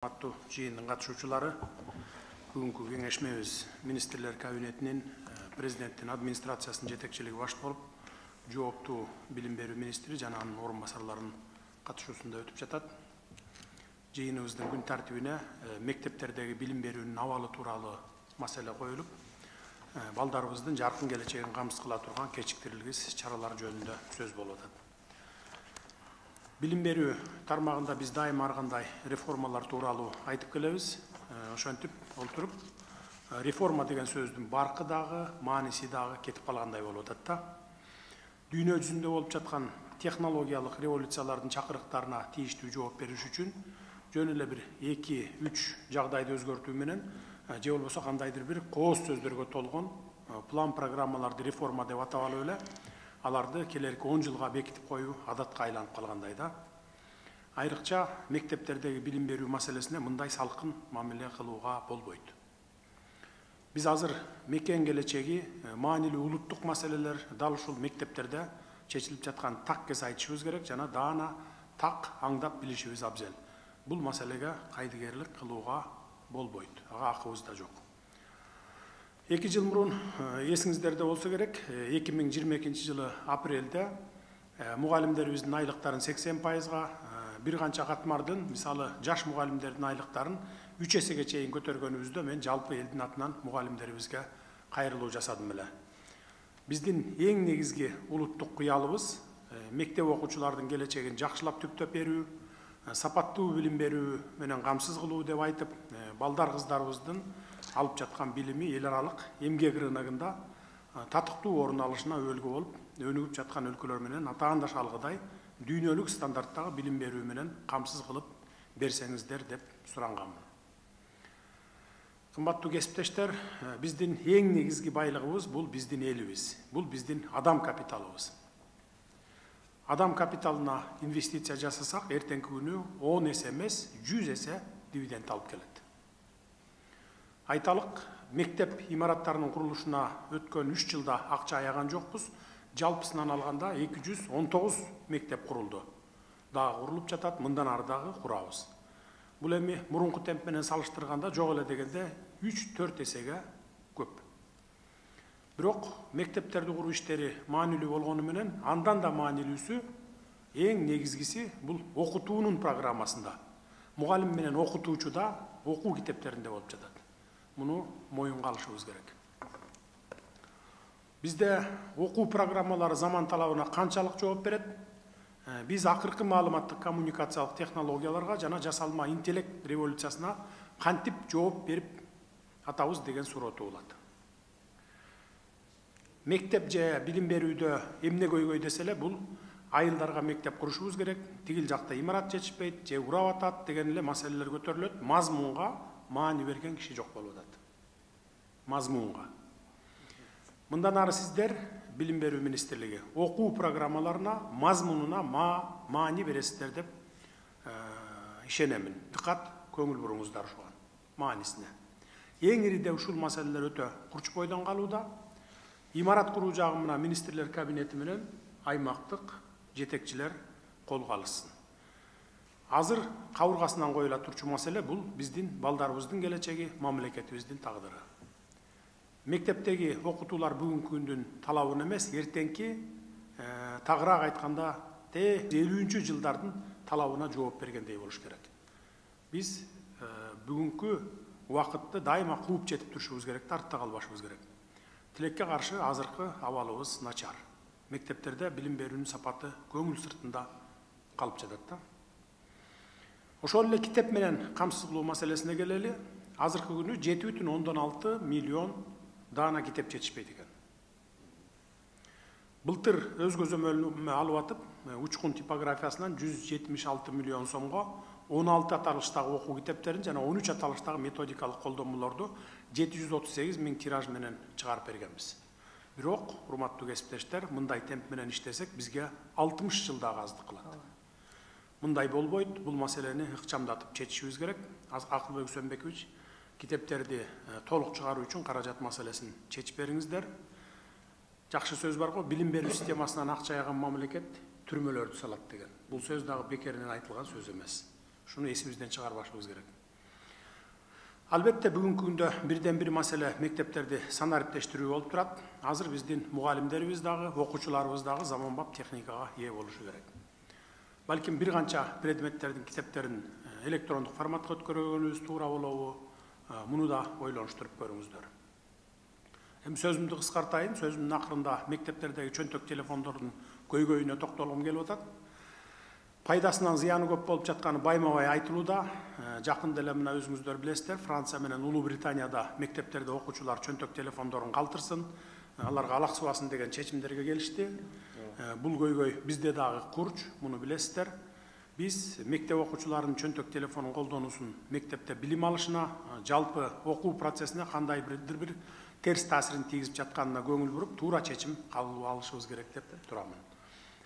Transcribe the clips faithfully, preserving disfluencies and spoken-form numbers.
Аттуу жыйындын катышуучулары, бүгүнкү кеңешмебиз министрлер кабинетинин, президенттин администрациясынын жетекчилиги башчы болуп, жооптуу билим берүү министри жана анын орун басарларынын катышуусунда өтүп жатат. Жыйыныбыздын күн тартибине мектептердеги билим берүүнүн абалы тууралуу маселе коюлуп, балдарыбыздын жаркын келечегин камсыз кыла турган кечиктирилгис чаралар жөнүндө сөз болуп атат. Билим берүү тармагында биз дайыма ар кандай реформалар тууралуу айтып келебиз. Ошентип олтуруп, реформа деген сөздүн баркы дагы, мааниси дагы кетип калгандай болуп атат да. Дүйнө жүзүндө болуп жаткан технологиялык революциялардын чакырыктарына тийиштүү жооп бериш үчүн жөн эле бир эки үч жагдайды өзгөртүү менен же болбосо кандайдыр бир кооз сөздөргө толгон план программаларды реформа деп атап алып эле аларды келерки он жылга бекитип коюу адатка айланып калгандай да. Айрыкча мектептердеги билим берүү маселесине мындай салкын мамиле кылууга болбойт. Биз азыр мекен келечеги маанилүү улуттук маселелер дал ушул мектептерде чечилип жаткан таккес айтышыбыз керек жана даана так аңдап билишибиз абзел. Бул маселеге кайдыгерлик кылууга болбойт. Ага акыбыз да жок. Эки жыл мурун эсиңиздерде болсо керек, эки миң жыйырма экинчи жылы апрелде мугалимдерибиздин айлыктарын сексен пайызга, бир канча катмардын, мисалы, жаш мугалимдердин айлыктарын үч эсеге чейин көтөргөнүбүздө мен жалпы элдин атынан мугалимдерибизге кайрылуу жасадым эле. Биздин эң негизги улуттук кыялыбыз мектеп окуучулардын келечегин жакшылап түптөп берүү, сапаттуу билим берүү менен камсыз кылуу деп айтып, балдар кыздарыбыздын алып жаткан билими эл аралык эмгек рыногунда татыктуу орун алышына өөлгө болуп, өнүгүп жаткан өлкөлөр менен атаандаш алгыдай дүйнөлүк стандарттагы билим берүү менен камсыз кылып берсеңиздер деп суранганмын. Кымбаттуу кесиптештер, биздин эң негизги байлыгыбыз бул биздин элибиз, бул биздин адам капиталыбыз. Адам капиталына инвестиция жасасак, эртеңки күнү он эсе эмес, жүз эсе дивиденд алып келет. Айталык, мектеп имараттарынын курулушуна өткөн үч жылда акча аяган жокпуз. Жалпысынан алганда эки жүз он тогуз мектеп курулду. Дагы курулуп жатат, мындан ары дагы курабыз. Бул эми мурунку темп менен салыштырганда жок эле дегенде үч төрт эсеге көп. Бирок мектептерди куруу иштери маанилүү болгону менен андан да маанилүүсү эң негизгиси бул окутуунун программасында. Мугалим менен окутуучу да окуу китептеринде болуп жатат. Муну моюнга алышыбыз керек. Бизде окуу программалары заман талабына канчалык жооп берет? Биз акыркы маалыматтык коммуникациялык технологияларга жана жасалма интеллект революциясына кантип жооп берип атабыз деген суроо туулат. Мектеп же билим берүүдө эмне көйгөй десе эле бул айылдарга мектеп курушубуз керек, тигил жакта имарат жетишпейт, же урап атат деген эле маселелер көтөрүлөт. Мазмунга маани берген киши жок болуп атат. Мазмунга. Мындан ары сиздер билим берүү министрлиги окуу программаларына, мазмунуна маани бересиздер деп ишенемин. Диккат, көңүл буруңуздар ушуга маанисине. Эң ириде ушул маселелер өтө курч бойдон калууда. Имарат куруу жагына министрлер кабинети менен аймактык жетекчилер колго алышсын. Азыр кабыргасынан коюла турчу маселе бул биздин балдарыбыздын келечеги, мамлекетибиздин тагдыры. Мектептеги окутуулар бүгүнкү күндүн талабын эмес, эртеңки тагыраак айтканда элүүнчү жылдардын талабына жооп бергендей болуш керек. Биз бүгүнкү убакытты дайыма кууп жетип турушубуз керек, артта калбашыбыз керек. Тилекке каршы азыркы абалыбыз начар. Мектептерде билим берүүнүн сапаты көңүл сыртында калып жатат да. Ошол эле китеп менен камсыз кылуу маселесине келели. Азыркы күнү жети бүтүн ондон алты миллион даана китеп жетишпейт экен. Былтыр өз көзөмөлүнө алып атып, учкун типографиясынан жүз жетимиш алты миллион сомго он алты аталыштагы окуу китептерин жана он үч аталыштагы методикалык колдонмолорду жети жүз отуз сегиз миң тираж менен чыгарып бергенбиз. Бирок, урматтуу кесиптештер, мындай темп менен иштесек бизге алтымыш жылдагы аздык кылат. Мындай болбойт, бул маселени ыкчамдатып чечишибиз керек. Акылбек Үсөнбекович, китептерди толук чыгаруу үчүн каражат маселесин чечип бериңиздер. Жакшы сөз бар го, билим берүү системасынан акча аяган мамлекет түрмөлөрдү салат деген. Бул сөз дагы бекеринен айтылган сөз эмес. Шуну эсибизден чыгарбашыбыз керек. Албетте бүгүнкү күндө бирден бир маселе мектептерди санариптештирүү болуп турат. Азыр биздин мугалимдерибиз дагы, окуучуларыбыз дагы заманбап техникага ээ болушу керек. Балким бир канча предметтердин китептерин электрондук форматка өткөргөнүбүз туура болобу? Муну да ойлонуштуруп көрүңүздөр. Эми сөзүмдү кыскартайын. Сөзүмдүн акырында мектептердеги чөнтөк телефондордун көйгөйүнө токтолгум келип атат. Пайдасынан зыяны көп болуп жатканы байма-бай айтылууда. Жакында эле мына өзүңүздөр билесиздер, Франция менен Улуу Британияда мектептерде окуучулар чөнтөк телефондорун калтырсын, аларга алаксыбасын деген чечимдерге келишти. Бул көйгөй бизде дагы курч, муну билесиздер. Биз мектеп окуучуларынын чөнтөк телефонун колдонуусун мектепте билим алышына, жалпы окуу процессине кандай бир бир терс таасирин тийгизип жатканына көңүл буруп, туура чечим кабыл алышыбыз керек деп турамын.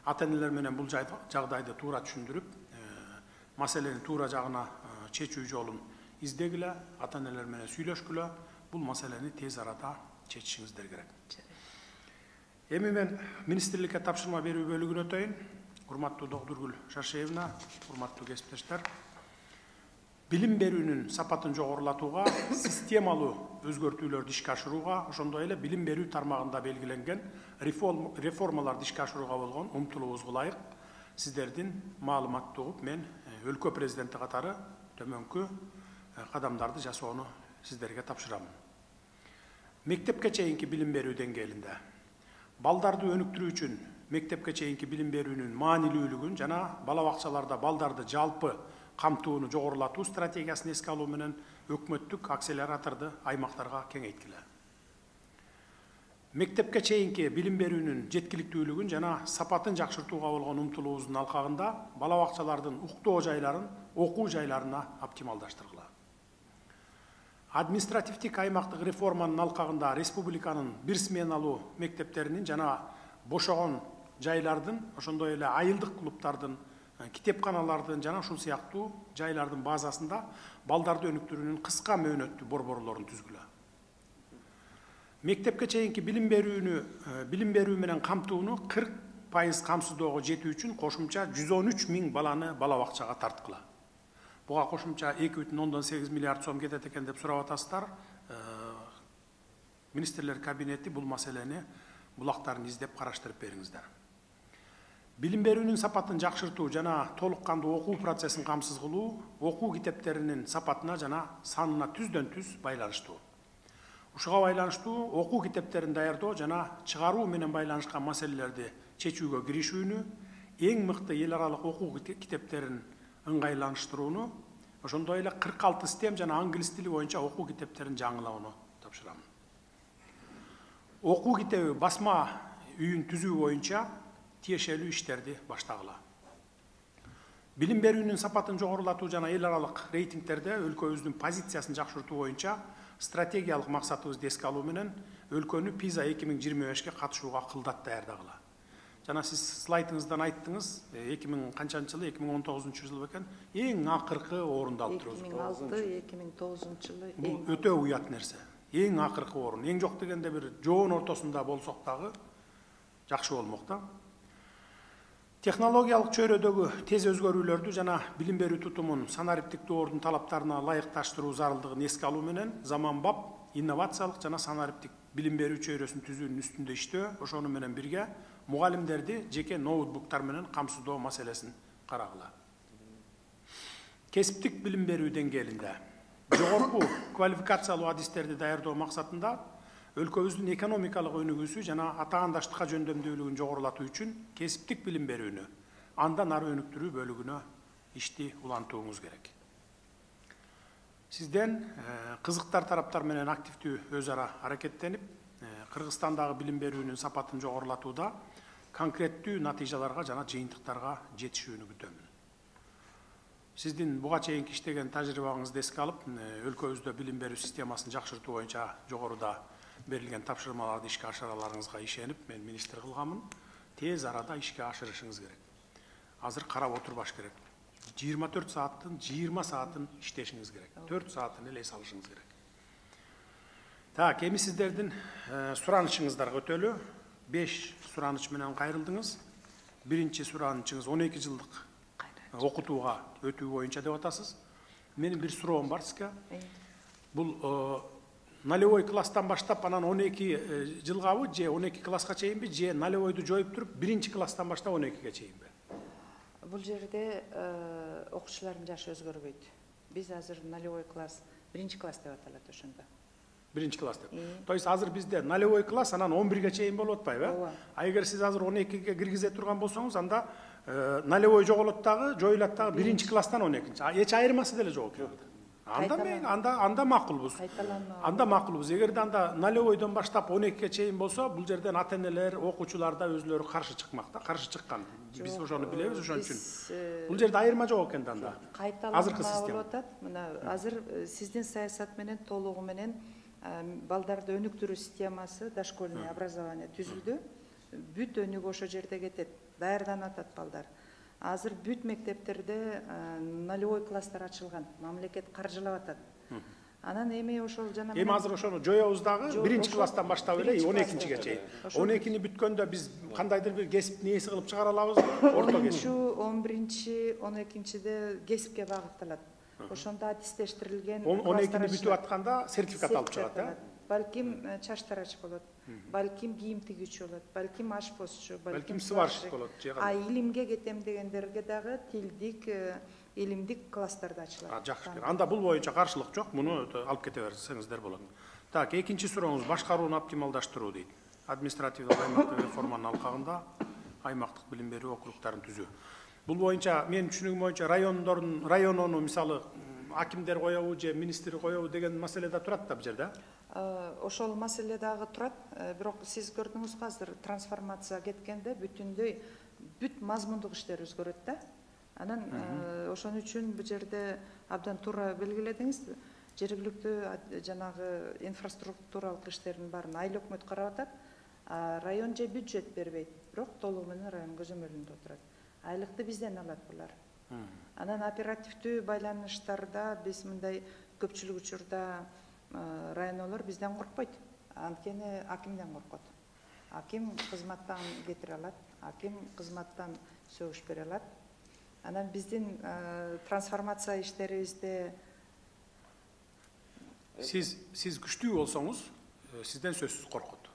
Ата-энелер менен бул жагдайды туура түшүндүрүп, маселени туура жагына чечүү жолун издегиле, ата-энелер менен сүйлөшкүлө, бул маселени тез арада чечишиңиздер керек. Эми мен министрликке тапшырма берүү бөлүгүнө өтөйүн. Урматтуу Догдургүл Шаршеевна, урматтуу кесиптештер. Билим берүүнүн сапатын жогорулатууга, системалуу өзгөртүүлөрдү ишке ашырууга, ошондой эле билим берүү тармагында белгиленген реформаларды ишке ашырууга болгон умтулуубузга ылайык сиздердин маалыматты угуп, мен өлкө президенти катары төмөнкү кадамдарды жасоону сиздерге тапшырамын. Мектепке чейинки билим берүү деңгээлинде балдарды өнүктүрүү үчүн мектепке чейинки билим берүүнүн маанилүүлүгүн жана бала бакчаларда балдарды жалпы камтууну жогорулатуу стратегиясын эске алуу менен өкмөттүк акселераторду аймактарга кеңейткиле. Мектепке чейинки билим берүүнүн жеткиликтүүлүгүн жана сапатын жакшыртууга болгон умтулуубуздун алкагында бала бакчалардын уктоо жайларын окуу жайларына оптималдаштыргыла. Административдик аймактык реформанын алкагында республиканын бир сменалуу мектептеринин жана бошогон жайлардын, ошондой эле айылдык клубтардын, китепканалардын жана ушул сыяктуу жайлардын базасында балдарды өнүктүрүүнүн кыска мөөнөттүү борборлорун түзгүлө. Мектепке чейинки билим берүүнү билим берүү менен камтууну кырк пайыз камсыздоого жетүү үчүн кошумча жүз он үч миң баланы бала бакчага тарткыла. Буга кошумча эки бүтүн ондон сегиз миллиард сом кетет экен деп сурап атасыздар. Министрлер кабинети бул маселени булактарын издеп караштырып бериңиздер. Билим берүүнүн сапатын жакшыртуу жана толук кандуу окуу процессин камсыз кылуу окуу китептеринин сапатына жана санына түздөн түз байланыштуу. Ушуга байланыштуу окуу китептерин даярдоо жана чыгаруу менен байланышкан маселелерди чечүүгө киришүүнү, эң мыкты эл аралык окуу китептерин ыңгайланыштырууну, ошондой эле кырк алты стем жана англис тили боюнча окуу китептерин жаңылоону тапшырамын. Окуу китеби басма үйүн түзүү боюнча тиешелүү иштерди баштагыла. Билим берүүнүн сапатын жогорулатуу жана эл аралык рейтингтерде өлкөбүздүн позициясын жакшыртуу боюнча стратегиялык максатыбызды эске алуу менен өлкөнү пиза эки миң жыйырма бешке катышууга кылдат даярдагыла. Жана сиз слайдыңыздан айттыңыз, эки миң канчанчы жылы, эки миң он тогузунчу жыл бекен, эң акыркы орунду алып турабыз. эки миң алты эки миң тогузунчу жылы. Бул өтө уят нерсе. Эң акыркы орун. Эң жок дегенде бир жоон ортосунда болсок дагы жакшы болмок да. Технологиялык чөйрөдөгү тез өзгөрүүлөрдү жана билим берүү тутумун санариптик доордун талаптарына ылайыкташтыруу зарылдыгын эске алуу менен заманбап инновациялык жана санариптик билим берүү чөйрөсүн түзүүнүн үстүндө иштөө, ошону менен бирге мугалимдерди жеке ноутбуктар менен камсыздоо маселесин карагыла. Кесиптик билим берүү деңгээлинде жогорку квалификациялуу адистерди даярдоо максатында өлкөбүздүн экономикалык өнүгүүсү жана атаандаштыкка жөндөмдүүлүгүн жогорулатуу үчүн кесиптик билим берүүнү андан ары өнүктүрүү бөлүгүнө ишти улантууңуз керек. Сизден кызыктар тараптар менен активдүү өз ара аракеттенип, Кыргызстандагы билим берүүнүн сапатын жогорулатууда конкреттүү натыйжаларга жана жыйынтыктарга жетишүүнү күтөмүн. Сиздин буга чейинки иштеген тажрыйбаңызды эске алып, өлкөбүздө билим берүү системасын жакшыртуу боюнча жогоруда берилген тапшырмаларды ишке ашыраларыңызга ишенип, мен министр кылганмын. Тез арада ишке ашырышыңыз керек. Азыр карап отурбаш керек. жыйырма төрт сааттын жыйырма саатын иштешиңиз керек. төрт саатын эле эс алышыңыз керек. Так, эми сиздердин суранычыңыздарга өтөлү. беш сураныч менен кайрылдыңыз. Биринчи суранычыңыз он эки жылдык окутууга өтүү боюнча деп атасыз. Менин бир суроом бар сизге. Бул нулевой класстан баштап анан он эки жылгабы же он эки класска чейинби же нулевойду жоюп туруп биринчи класстан баштап он экиге чейинби? Бул жерде окуучулардын жашы өзгөрбөйт. Биз азыр нулевой класс, биринчи класс деп аталат ошондо. Биринчи класс деп. То есть азыр бизде нулевой класс анан он бирге чейин болуп атпайбы? Ооба. А эгер сиз азыр он экиге киргизе турган болсоңуз, анда нулевой жоголот дагы, жоюлат дагы биринчи класстан он экинчи. Эч айырмасы деле жок экен. Анда мен анда анда макулбуз. Анда макулбуз. Эгерде анда нулевойдон баштап он экиге чейин болсо, бул жерден ата-энелер, окуучулар да өзлөрү каршы чыкмак да, каршы чыккан. Биз ошону билебиз, ошон үчүн. Бул жерде айырма жок экен да анда. Азыркы система болуп атат. Мына азыр сиздин саясат менен толугу менен балдарды өнүктүрүү системасы, дошкольный образование түзүлдү. Бүт өнүгүү ошо жерде кетет. Даярданып атат балдар. Азыр бүт мектептерде нулевой класстар ачылган, мамлекет каржылап атат. Анан эми ошол жана эми азыр ошону жоёбуз дагы биринчи класстан баштап эле он экинчиге чейин. он экини бүткөндө биз кандайдыр бир кесип нээси кылып чыгара алабыз, орто кесип. он биринчи, он экинчиде кесипке багытталат. Ошондо аттестештирилген он экини бүтүп атканда сертификат алып чыгат, э? Балким чач тарач болот, балким кийим тигүүчү болот, балким ашпозчу, балким сварщик болот. А илимге кетем дегендерге дагы тилдик, илимдик класстарда ачылат. Жакшы. Анда бул боюнча каршылык жок, муну алып кете берсеңиздер болот. Так, экинчи сурооңуз башкарууну оптималдаштыруу дейт. Административдик аймактык реформанын алкагында аймактык билим берүү округдарын түзүү. Бул боюнча менин түшүнүгүм боюнча райондордун районону мисалы акимдер коебу же министр коебу деген маселе да турат да бул жерде. Ошол маселе дагы турат, бирок сиз көрдүңүзгү азыр трансформация кеткенде бүтүндөй бүт мазмундук иштер өзгөрөт да. Анан ошон үчүн бул жерде абдан туура белгиледиңиз. Жергиликтүү жанагы инфраструктуралык иштердин баарын айыл өкмөт карап атат. Район же бюджет бербейт, бирок толугу менен район көзөмөлүндө отурат. Айлыкты бизден алат булар. Анан оперативдүү байланыштарда биз мындай көпчүлүк учурда районолор бизден коркпойт. Анткени акимден коркот. Аким кызматтан кетире алат, аким кызматтан сөгүш бере алат. Анан биздин трансформация иштерибизде сиз сиз күчтүү болсоңуз, сизден сөзсүз коркот.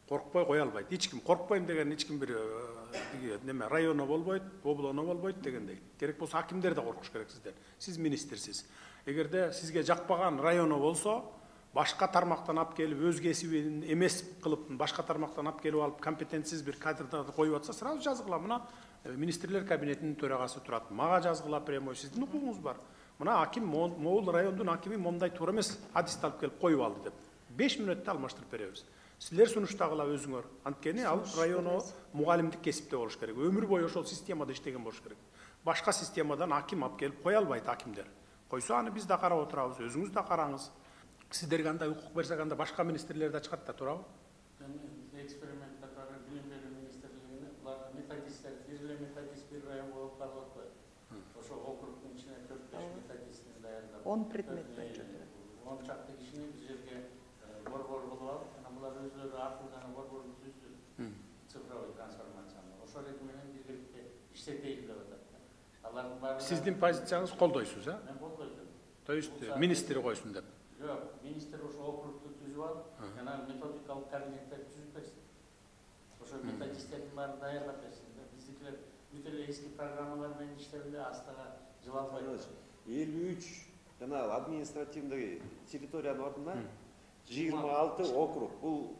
Коркпой кое албайт. Эч ким коркпойм деген эч ким бир неме районо болбойт, облоно болбойт дегендей. Керек болсо акимдер да коркуш керек сизден. Сиз министрсиз. Эгерде сизге жакпаган районо болсо, башка тармактан алып келип өз кесибин эмес кылып, башка тармактан алып келип алып компетентсиз бир кадрды коюп атса, сразу жазгыла. Мына министрлер кабинетинин төрагасы турат. Мага жазгыла прямой, сиздин укугуңуз бар. Мына аким могул райондун акими момундай туура эмес адисти алып келип коюп алды деп. беш мүнөттө алмаштырып беребиз. Силер сунуштагыла өзүңөр. Анткени ал районо мугалимдик кесипте болуш керек. Өмүр бою ошол системада иштеген болуш керек. Башка системадан аким алып келип кое албайт акимдер. Койсо аны биз да карап отурабыз, өзүңүз да караңыз. Сиздерге андай укук берсек, анда башка министрлер да чыгат да, туурабы? Эксперименттер бар, билим берүү министрлигинде булар методисттер, бир методист бир район болуп калып атпайбы? Ошо округдун ичине төрт беш методистин даярдап. он предметтен чөтүрөт. он чакты кишини бир жерге борбор болуп алып, анан булар өзлөрү аркылуу гана борборду түздү. Цифровой трансформацияны. Ошол реки менен биргеликте иштетейли деп атат. Алардын баары Сиздин позицияңыз колдойсуз, э? Мен колдойм. То есть министр койсун деп. Жок, министр ошо округду түзүп алып, жана методикалык кабинеттер түзүп берсин. Ошо методисттердин баарын даярдап берсин. Биздикилер бүт эле эски программалар менен иштеп эле астага жыл албайт. элүү үч жана административдик территориянын ордуна жыйырма алты округ. Бул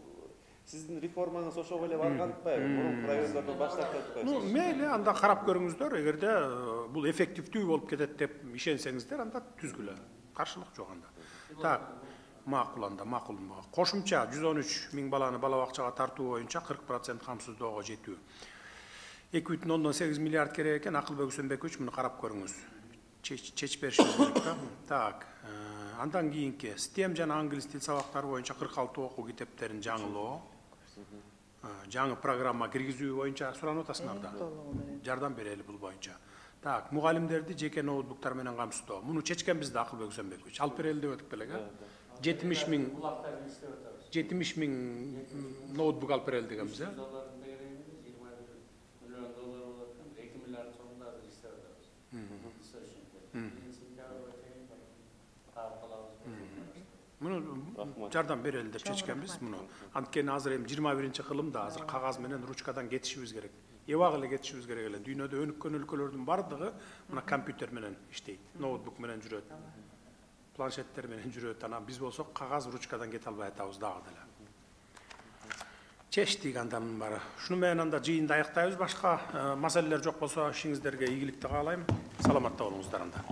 сиздин реформаңыз ошого эле барган атпайбы? Мурунку райондордон баштап атпайбы? Ну, мейли, анда карап көрүңүздөр. Эгерде бул эффективдүү болуп кетет деп ишенсеңиздер, анда түзгүлө. Каршылык жок анда. Так, макул анда, макул. Кошумча жүз он үч миң баланы бала бакчага тартуу боюнча кырк процент камсыздоого жетүү. эки бүтүн ондон сегиз миллиард керек экен. Акылбек Үсөнбекович, муну карап көрүңүз. Чечип беришиңиз керек да. Так, андан кийинки стем жана англис тил сабактары боюнча кырк алты окуу китептерин жаңылоо. Жаңы программа киргизүү боюнча суранып атасыңар да. Жардам берели бул боюнча. Так, мугалимдерди жеке ноутбуктар менен камсыздоо. Муну чечкенбиз да Акылбек Үсөнбекович. Алып берели деп өтүп белек, э? жетимиш миң жетимиш миң ноутбук алып берели дегенбиз, э? муну жардам берели деп чечкенбиз. Муну анткени азыр эми жыйырма биринчи кылымда азыр кагаз менен ручкадан кетишибиз керек. Эбак эле кетишибиз керек эле. Дүйнөдө өнүккөн өлкөлөрдүн бардыгы мына компьютер менен иштейт, ноутбук менен жүрөт, планшеттер менен жүрөт. Анан биз болсок кагаз ручкадан кете албай атабыз дагы деле. Чечтик анда мунун баары. Шуну менен анда жыйынды аяктайбыз. Башка маселелер жок болсо ишиңиздерге ийгиликти каалайм. Саламатта болуңуздар анда.